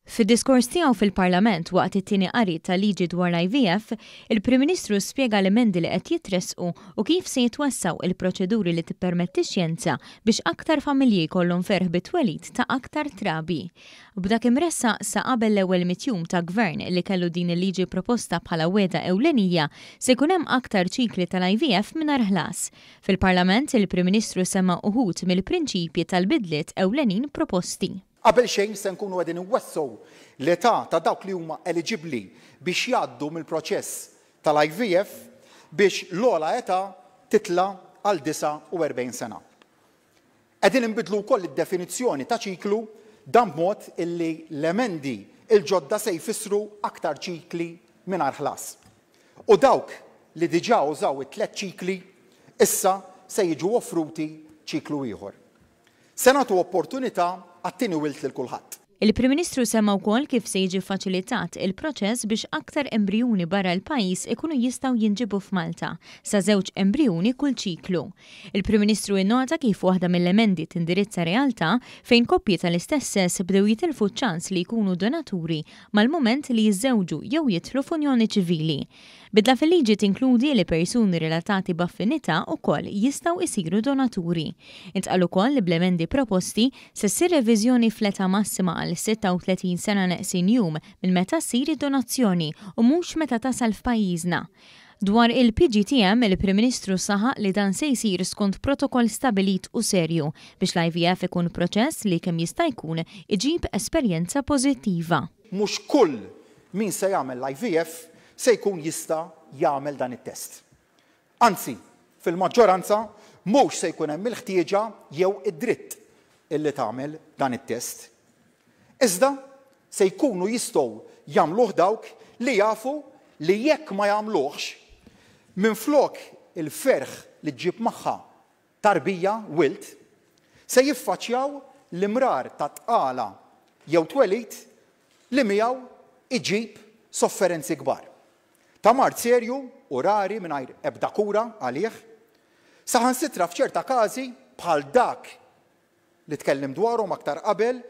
Fid-diskors tiegħu fil-Parlament waqt it-tieni qari tal-liġi dwar l-IVF, il-Prim Ministru spjega l-emendi li qed jitressqu u kif se jitwessgħu il-proċeduri li tippermetti x-xjenza biex aktar familji jkollhom ferħ bit-twelid ta' aktar trabi. B'dak imressaq sa qabel l-ewwel mitt jum ta' Gvern li kellu din il-liġi proposta bħala wegħda ewlenija, se jkun hemm aktar ċikli tal-IVF mingħajr ħlas. Fil-Parlament, il-Prim Ministru semma uħud mill-prinċipji tal-bidliet ewlenin proposti. Qabel xejn se nkunu qegħdin inwessgħu l-età ta' dawk li huma eliġibbli biex jgħaddu mill-proċess tal-IVF biex l-ogħla età titla' għal 49 sena. Qegħdin inbiddlu wkoll id-definizzjoni ta' ċiklu, dan b'mod illi l-emendi l-ġodda se jfissru aktar ċikli mingħajr ħlas. U dawk li diġà użaw it-tlett ċikli issa se jiġu offruti ċiklu ieħor. Se nagħtu opportunità għat-tieni wild lil kulħadd. Il-Prim Ministru semma wkoll kif se jiġi ffaċilitat il-proċess biex aktar embrijuni barra l-pajjiż ikunu jistgħu jinġiebu f'Malta, sa żewġ embrijuni kull ċiklu. Il-Prim Ministru innota kif waħda mill-emendi tindirizza realtà fejn koppji tal-istess sess bdew jitilfu ċ-ċans li jkunu donaturi mal-mument li jiżżewġu jew jidħlu f'unjoni ċivili. Bidla fil-liġi tinkludi li persuni relatati b'affinità wkoll jistgħu jsiru donaturi. Intqal ukoll li bl-emendi proposti se ssir reviżjoni fl-età massima għal 36 sena neqsin jum minn meta ssir id-donazzjoni u mhux meta tasal f'pajjiżna. Dwar il-PGTM, il-Prim Ministru saħaq li dan se jsir skont protokoll stabilit u serju biex l-IVF ikun proċess li kemm jista' jkun iġib esperjenza pożittiva. Mhux kull min se jagħmel l-IVF se jkun jista' jagħmel dan it-test. Anzi, fil-maġġoranza mhux se jkun hemm il-ħtieġa jew id-dritt illi tagħmel dan it-test. Iżda se jkunu jistgħu jagħmluh dawk li jafu li jekk ma jagħmluhx, minflok il-ferħ li ġġib magħha tarbija, wild, se jiffaċċjaw l-imrar ta' tqala jew twelid li miegħu iġib sofferenzi kbar. Ta' mard serju u rari mingħajr ebda kura għalih, saħansitra f'ċerta każi bħal dak li tkellimt dwarhom aktar qabel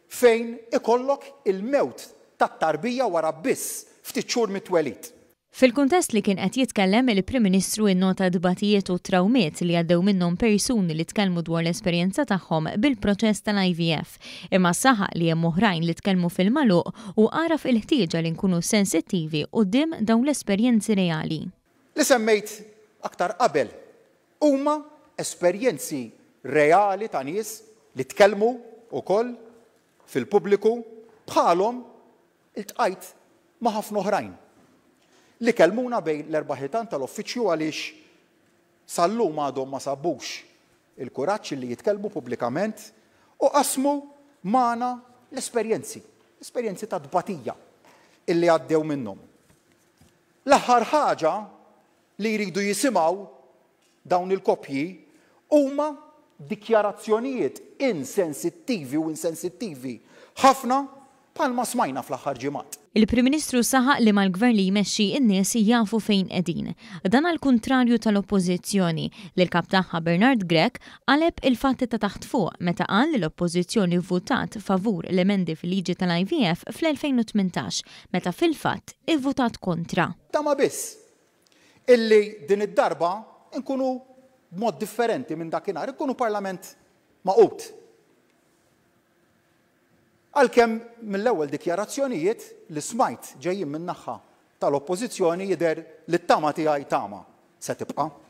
fejn ikollok il-mewt tat-tarbija wara biss ftit xhur mit-twelid. Fil-kuntest li kien qed jitkellem, il-Prim Ministru innota t-tbatijiet u t-trawmiet li għaddew minnhom persuni li tkellmu dwar l-esperjenza tagħhom bil-proċess tal-IVF, imma saħaq li hemm oħrajn li tkellmu fil-magħluq u għaraf il-ħtieġa li nkunu sensittivi quddiem dawn l-esperjenzi reali. Li semmejt aktar qabel huma esperjenzi reali ta' nies li tkellmu wkoll fil-pubbliku bħalhom Iltqajt ma' ħafna oħrajn li kellmuna bejn l-erba' ħitan tal-uffiċċju għaliex sal-lum għadhom ma sabux il-kuraġġ li jitkellmu pubblikament u qasmu magħna l-esperjenzi, esperjenzi ta' tbatija illi għaddew minnhom. L-aħħar ħaġa li jridu jisimgħu dawn il-koppji huma dikjarazzjonijiet insensittivi u insensittivi ħafna bħalma smajna fl-aħħar ġimgħat. Il-Prim Ministru saħaq li mal-Gvern li jmexxi n-nies jafu fejn qegħdin. Dan għall-kuntrarju tal-Oppożizzjoni, li l-Kap tagħha Bernard Grech qaleb il-fatti ta' taħt fuq meta qal li l-Oppożizzjoni vvutat favur l-emendi fil-liġi tal-IVF fl-2018 meta fil-fatt ivvutat kontra. Tama biss illi din id-darba nkunu b'mod differenti minn dakinhar, inkunu Parlament magħqud. Għalkemm mill-ewwel dikjarazzjonijiet li smajt ġejjin min-naħa tal-Oppożizzjoni jidher li t-tama tiegħi tama se tibqa'.